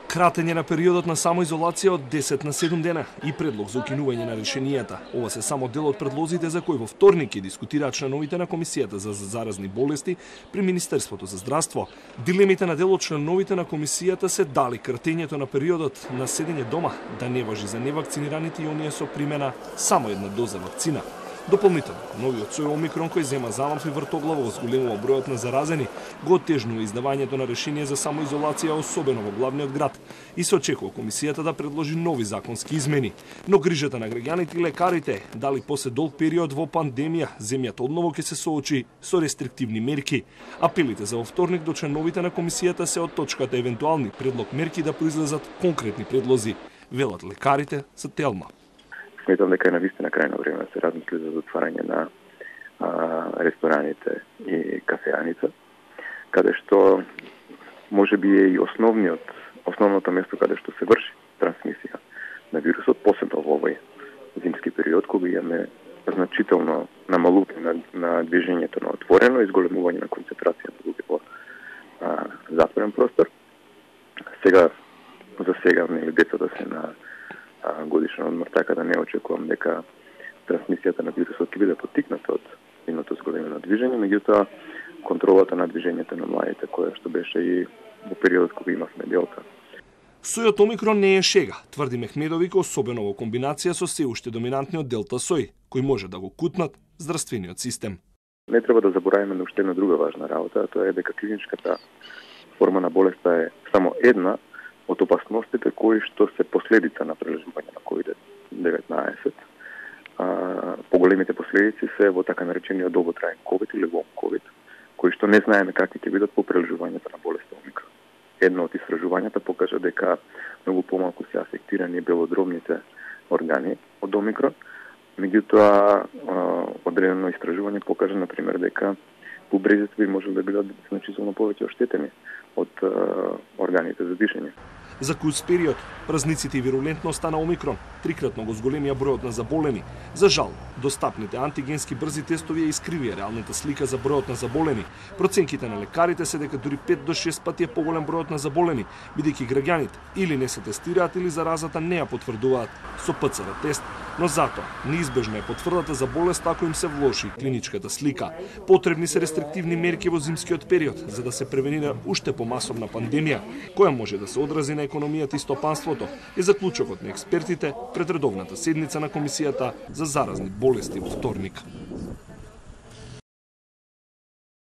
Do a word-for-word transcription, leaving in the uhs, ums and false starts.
Кратење на периодот на самоизолација од десет на седум дена и предлог за укинување на решенијата. Ова се само дел од предлозите за кои во вторник ќе дискутираат членовите на Комисијата за заразни болести при Министерството за здравство. Дилемите на дел од членовите на комисијата се дали кратењето на периодот на седење дома да не важи за невакцинираните и оние со примена само една доза вакцина. Дополнително, новиот сој Омикрон кој зема замав и вртоглаво во зголемува бројот на заразени, го оттежнува издавањето на решение за самоизолација, особено во главниот град, и се очекува комисијата да предложи нови законски измени. Но грижата на граѓаните и лекарите дали после долг период во пандемија, земјата одново ќе се соочи со рестриктивни мерки. Апелите за во вторник до членовите на комисијата се од точката евентуални предлог мерки да произлезат конкретни предлози, велат лекарите за Телма. Сметам дека е навистина крајно време да се размисли за затварање на а, рестораните и кафеаница, каде што може би е и основниот, основното место каде што се врши трансмисија на вирусот, посебно во овој зимски период, кога имаме значително намалување на, на движењето на отворено и зголемување на концентрација на луѓе во а, затворен простор. Сега, за сега, нели, децата се на годишен одмор, така да не очекувам дека трансмисијата на вирусот ќе биде поттикната од нивното зголемено движење, меѓутоа контролата на движењето на младите, која што беше и во периодот кога имавме делта. Сојот Омикрон не е шега, тврди Мехмедовик, особено во комбинација со се уште доминантниот делта сој, кој може да го кутнат здравствениот систем. Не треба да забораваме на уште една друга важна работа, а тоа е дека клиничката форма на болеста е само една од опасностите кои што се последица на прележување на ковид деветнаесет. А, поголемите последици се во така наречениот долготраен ковид или лонг ковид, кои што не знаеме какви ќе бидат по прележувањето на болеста Омикрон. Едно од истражувањата покажа дека многу помалку се афектирани белодробните органи од Омикрон, меѓутоа одредено истражување покажа на пример дека бубрезите би можело да бидат значително повеќе оштетени од органите за дишење. За куц период, празниците и вирулентноста на Омикрон трикратно го зголемија бројот на заболени. За жал, достапните антигенски брзи тестови ја искривија реалната слика за бројот на заболени. Проценките на лекарите се дека дури пет до шест пати е поголем бројот на заболени, бидејќи граѓаните или не се тестираат или заразата не ја потврдуваат со пе це ер тест, но затоа неизбежна е потврдата за болест ако им се влоши клиничката слика. Потребни се рестриктивни мерки во зимскиот период за да се превенира уште помасовна пандемија, која може да се одрази на економијата и стопанството, е заклучокот на експертите пред редовната седница на Комисијата за заразни болести во вторник.